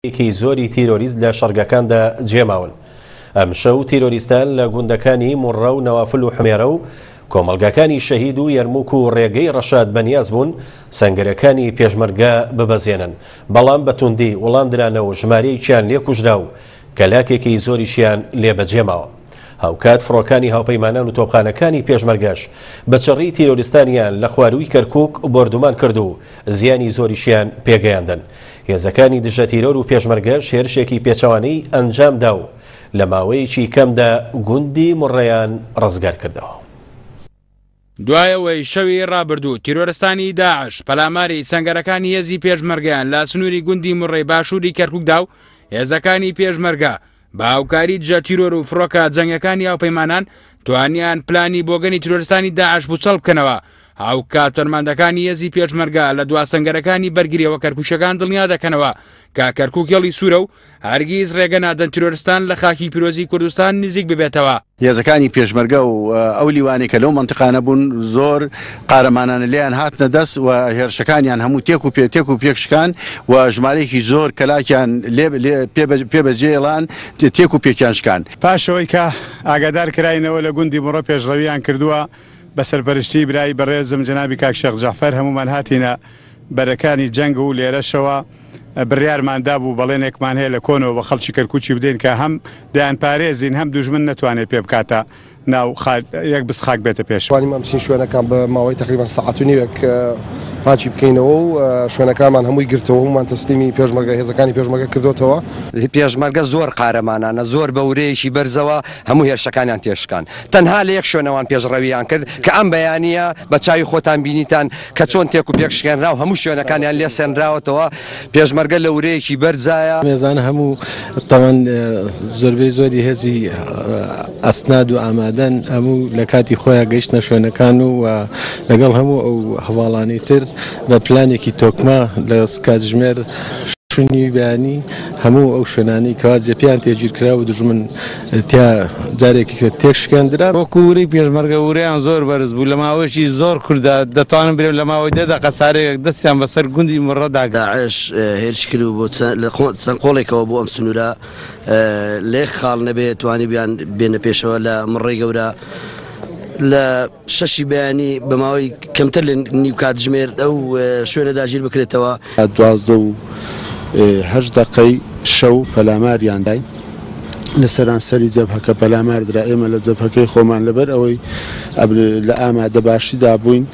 ێکی زۆری تیرۆریست لە شەڕگەکاندا جێماون. ئەمشەو تیرۆریستان لە گوندەکانی موڕە و نەوافل و حمێرە و کۆمەڵگاکانی شەهید و یەرموک و ڕێگەی ڕەشاد بەنیاز بوون سەنگەرەکانی پێشمەرگە ببەزێنن، بەڵام بە توندی وڵام درانەوە و ژمارەیەکیان لێ کوژرا و کەلاکێکی زۆریشیان لێ بەجێماوە. هاوکات فڕۆکانی هاوپەیمانان و تۆپخانەکانی پێشمەرگەش بە چڕی تیرۆریستانیان لە خوارووی کەرکوک بۆردومان کرد و زیانی زۆریشیان پێگەیاندن. هێزەکانی دژە تیرۆر و پێشمەرگەش هێرشێکی پێچەوانەی ئەنجامدا و لە ماوەیەکی کەمدا گوندی مڕەیان ڕزگار کردەوە. دوای ئەوەی شەوی ڕابردوو تیرۆرستانی داعش پەلاماری سەنگەرەکانی هێزی پێشمەرگەیان لە سنووری گوندی مڕەی باشووری کەرکوک دا و هێزەکانی پێشمەرگە بە هاوکاری دژە تیرۆر و فڕۆکە جەنگەکانی هاوپەیمانان توانیان پلانی بۆگەنی تیرۆرستانی داعش پوچەڵ بکەنەوە هاوکات فەرماندەکانی هێزی پێشمەرگە لە دوا سەنگەرەکانی بەرگریەوە کەرکوکیەکان دڵنیا دەکەنەوە کە کەرکوک هێڵی سوورە و هەرگیز ڕێگە نادەن تیرۆرستان لە خاکی پیرۆزی کوردستان نزیک ببێتەوە. هێزەکانی پێشمەرگە و ئەو لیوانەی کە لەو مەنتقانە بوون زۆر قارەمانانە لێیان هاتنە دەست و هێرشەکانیان هەموو تێک و پێ تێک و پێک شکان و ژمارەیەکی زۆر کەلاکیان لێ لێ پێ بە پێ بەجێڵان تێک و پێکیان شکان. پاش ئەوەی کە ئاگادار کراینەوە لە گوندی مڕە پێشڕەویان کردووە بە سەرپەرشتیی برای بەڕێزم جەنابی کاک شێخ جەعفەر هەموومان هاتینە بەرەکانی جەنگ و لێرەشەوە بڕیارمان دابوو بەڵێنێکمان هەیە لە کۆنەوە بە خەڵکی کەرکوکی بدەین کە هەم دەیانپارێزین هەم دوژمن نەتوانێت پێ بکاتە ناو خاک یەک بست خاک بێتە پێشەوە. توانیمان بچین شوێنەکان بە ماوەی تەقریبەن سەعات و نیوێک پاکی بکەینەوە و شوێنەکانمان هەمووی گرتەوە هەموومان تەسلیمی پێشمەرگە هێزەکانی پێشمەرگە کردۆتەوە. پێشمەرگە زۆر قارەمانانە زۆر بە ورەیەکی بەرزەوە هەموو هێرشەکانیان تێشکان تەنها لە یەک شوێنەوان پێشڕەویان کرد کە ئەم بەیانییە بە چاوی خۆتان بینیتان کە چۆن تێک و پێک شکێنرا و هەموو شوێنەکانیان لێ سەنراوەتەوە، پێشمەرگە لە ورەیەکی بەرزایە. مێزانە هەموو تاوان زۆربەی زۆری هێزی ئەسناد و ئامادەن هەموو لە کاتی خۆیان گەیشتنە شوێنەکان و لەگەڵ هەموو ئەو هەواڵانی تر بە پلانێکی تۆکمە لە کاتژمێر شونی بەیانی هەموو ئەو شوێنانەی کەوا جێپێیان تێگیرکرا و دوژمن تیا جارێکی تر تێکشکێندرا. وەکو ورەی پێشمەرگە ورەیان زۆر بەرز بوو لە ماوەیەکی زۆر کورتدا دەتوانم برێم لە ماوەی دە دەقە چارەکێک دەستیان بەسەر گوندی مڕەدا گرت. داعش هێرش کرد بۆ لە چەند قۆڵێکەوە بۆ ئەم سنوورە لە یەک خاڵ نەبێ توانیبیان بێنە پێشەوە لە مڕەی گەورە لە شەشی بەیانی بە ماوەی کەمتر لە نیو کاتژمێر ئەو شوێنە داگیر بکرێتەوە. 12 و هەشت دەقەی شەو پەلاماریان داین لە سەرانسەری جەبهەکە پەلامار درا ئێمە لە جەبهەکەی خۆمان لەبەر ئەوەی لە ئامادەباشیدا بووین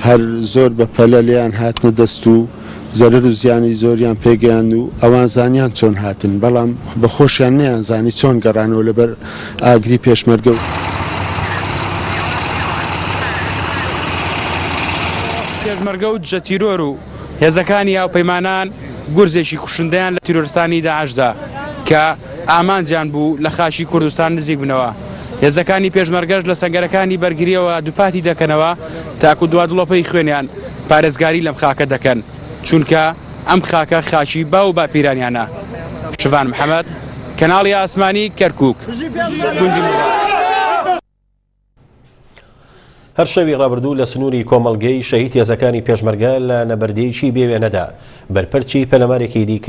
هەر زۆر بە پەلە لێیان هاتنە دەست و زەرەر و زیانی زۆریان پێگەیاند و ئەوان زانیان چۆن هاتن، بەڵام بە خۆشیان نەیانزانی چۆن گەڕانەوە لەبەر ئاگری پێشمەرگە و. پێشمەرگە و دژە تیرۆر و هێزەکانی هاوپەیمانان گورزێکی کوشندەیان لە تیرۆرستانی داعش دا کە ئامانجیان بوو لە خاکی کوردستان نزیک بنەوە. هێزەکانی پێشمەرگەش لە سەنگەرەکانی بەرگرییەوە دووپاتی دەکەنەوە تاکو دوا دڵۆپەی خوێنیان پارێزگاری لەم خاکە دەکەن، چونکە ئەم خاکە خاکی باو و باپیرانیانە. شڤان محەمەد، کەناڵی ئاسمانی کەرکوک، گوندی موڕاد. هەر شەوی ڕابردوو لە سنووری کۆمەڵگەی شەهید هێزەکانی پێشمەرگە لە نەبەردییەکی بێوێنەدا بەرپەرچی پەلەمارێکی دیکە.